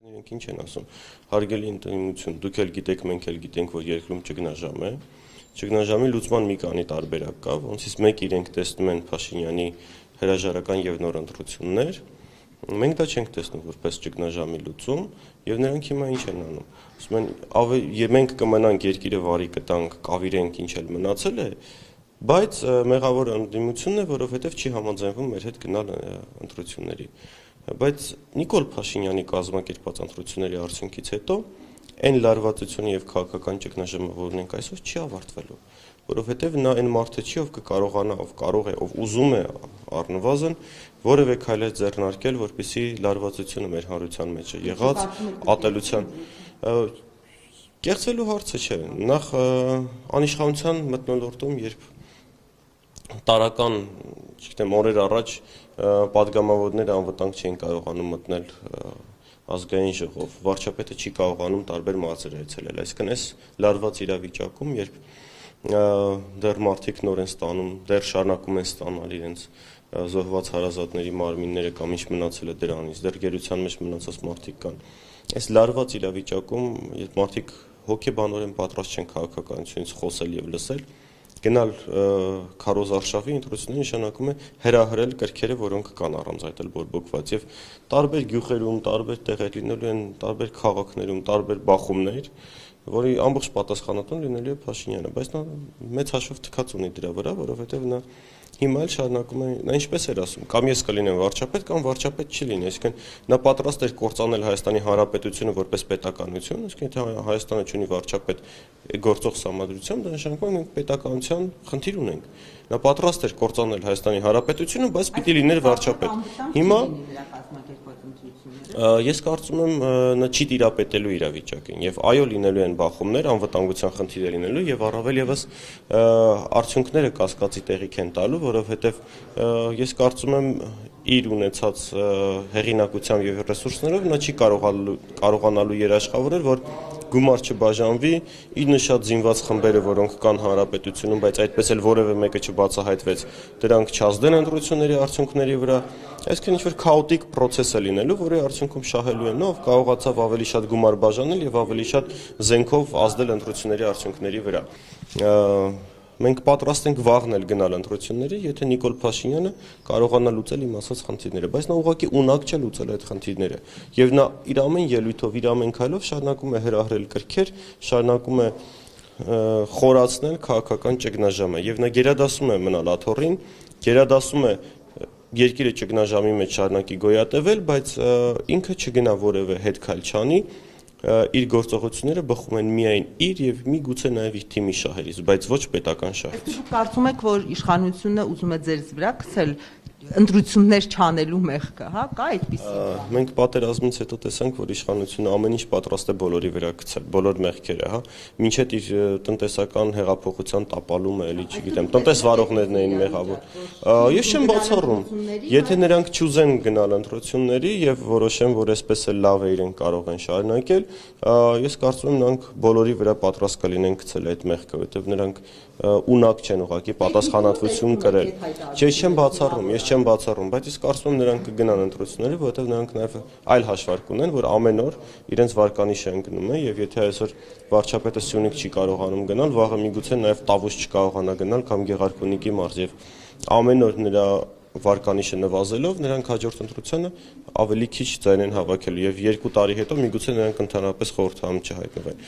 Իրենք ինչ են ասում, հարգելի ընդդիմություն, դուք էլ գիտեք, մենք էլ գիտենք, որ երկրում ճգնաժամ է, ճգնաժամի լուծման մի քանի տարբերակ կա, ոնցից մեկ իրենք տեսնում են Փաշինյանի հրաժարական եւ նոր ընտրություններ, մենք դա չենք տեսնում որպես ճգնաժամի լուծում, եւ նրանք հիմա ինչ են անում, ասում են մենք կմնանք երկիրը վարի կտանք, կավիրենք ինչ էլ մնացել է, բայց մեղավոր ընդդիմությունն է, որովհետեւ չի համաձայնվում մեր հետ գնալ ընտրությունների։ Բայց Նիկոլ Փաշինյանի կազմակերպած ընտրությունների արդյունքից հետո այն լարվածությունը եւ քաղաքական ճգնաժամը, որ ունենք այսօր, չի ավարտվելու, որովհետեւ նա այն մարդը չի, ով կկարողանա, ով կարող է, ով ուզում է առնվազն որևէ քայլ ձեռնարկել, որպեսզի լարվածությունը մեր հանրության մեջ է եղած ատելության կեղծելու հարցը չէ, նախ անիշխանության մթնոլորտում, երբ տարական, չգիտեմ, օրեր առաջ պատգամավորները անվտանգ չէին կարողանում մտնել ազգային ժողով, վարչապետը չի կարողանում տարբեր մարզեր այցելել, այսինքն այս լարված իրավիճակում, երբ դեռ մարդիկ նոր են ստանում, դեռ շարունակում են ստանալ իրենց զոհված հարազատների մարմինները կամ ինչ մնացել է դրանից, դեռ գերության մեջ մնացած մարդիկ կան, այս լարված իրավիճակում, երբ մարդիկ հոգեբանորեն պատրաստ չեն քաղաքականությունից խոսել եւ լսել, գնալ քարոզարշավի ընտրությունների նշանակում է հրահրել կրքերը, որոնք կան առանց այդ էլ բորբոքված եւ տարբեր գյուղերում, տարբեր տեղեր լինելու են, տարբեր քաղաքներում, տարբեր բախումներ, որի ամբողջ պատասխանատուն լինելու է Փաշինյանը, բայց նա մեծ հաշվով թքած ունի դրա վրա, որովհետեւ նա հիմա էլ շարունակում է, նա ինչպես էր ասում, կամ ես կլինեմ վարչապետ, կամ վարչապետ չի լինի, այսինքն նա պատրաստ էր կործանել Հայաստանի Հանրապետությունը որպես պետականություն, այսինքն եթե Հայաստանը չունի վարչապետ գործող սահմանադրությամբ, դա նշանակում է մենք պետականության խնդիր ունենք։ Նա պատրաստ էր կործանել Հայաստանի Հանրապետությունը, բայց պիտի լիներ վարչապետ։ Հիմա ես կարծում եմ նա չի տիրապետելու իրավիճակին եւ այո լինելու են բախումներ, անվտանգության խնդիրներ լինելու եւ առավել եւս արդյունքները կասկածի տեղիք են տալու, որովհետեւ ես կարծում եմ իր ունեցած հեղինակությամբ եւ ռեսուրսներով նա չի կարողանալու երաշխավորել, որ գումար չբաժանվի, իր նշած զինված խմբերը, որոնք կան հանրապետությունում, բայց այդպես էլ որևէ մեկը չբացահայտվեց, դրանք չազդեն ընտրությունների արդյունքների վրա, այսինքն ինչ-որ քաոտիկ process է լինելու, որի արդյունքում շահելու են նա, ով կարողացավ ավելի շատ գումար բաժանել եւ ավելի շատ զենքով ազդել ընտրությունների արդյունքների վրա։ Մենք պատրաստ ենք վաղն էլ գնալ ընտրությունների, եթե Նիկոլ Փաշինյանը կարողանա լուծել իմ ասած խնդիրները, բայց նա ուղղակի ունակ չէ լուծել այդ խնդիրները։ Եվ նա իր ամեն ելույթով, իր ամեն քայլով շարունակում է հրահրել կրքեր, շարունակում է խորացնել քաղաքական ճգնաժամը եւ նա գերադասում է մնալ աթոռին, գերադասում է երկիրը ճգնաժամի մեջ շարունակի գոյատևել, բայց ինքը չգնա որևէ հետ քայլ չանի, իր գործողությունները բխում են միայն իր եւ միգուցե նաեւ իր թիմի շահերից, բայց ոչ պետական շահերից։ Դուք կարծում եք, որ իշխանությունը ուզում է ձեր վրա գցել ընտրություններ չանելու մեղքը, հա, կա այդպիսի։ Մենք պատերազմից հետո տեսանք, որ իշխանությունը ամեն ինչ պատրաստ է բոլորի վրա գցել, բոլոր մեղքերը, հա, մինչեւ իր տնտեսական հեղափոխության տապալումը, էլի չգիտեմ, տնտեսվարողներն էին մեղավոր։ Ես չեմ բացառում, եթե նրանք չուզեն գնալ ընտրությունների եւ որոշեն, որ այսպես էլ լավ է իրենք կարող են շարունակել, ես կարծում եմ նրանք բոլորի վրա պատրաստ կլինեն գցել այդ մեղքը, որովհետեւ նրանք ունակ չեն ուղղակի պատասխանատվություն կրել։ Ես չեմ բացառում, բայց ես կարծում եմ նրանք կգնան ընտրությունների, որովհետև նրանք նաև այլ հաշվարկ ունեն, որ ամեն օր իրենց վարկանիշը ընկնում է եւ եթե այսօր վարչապետը Սյունիք չի կարողանում գնալ, վաղը միգուցե նաև Տավուշ չկարողանա գնալ կամ Գեղարքունիքի մարզ եւ ամեն օր նրա վարկանիշը նվազելով նրանք հաջորդ ընտրությանը ավելի քիչ ձայն են հավաքելու եւ 2 տարի հետո միգուցե նրանք ընդհանրապես խորհրդարանում չհայտնվեն։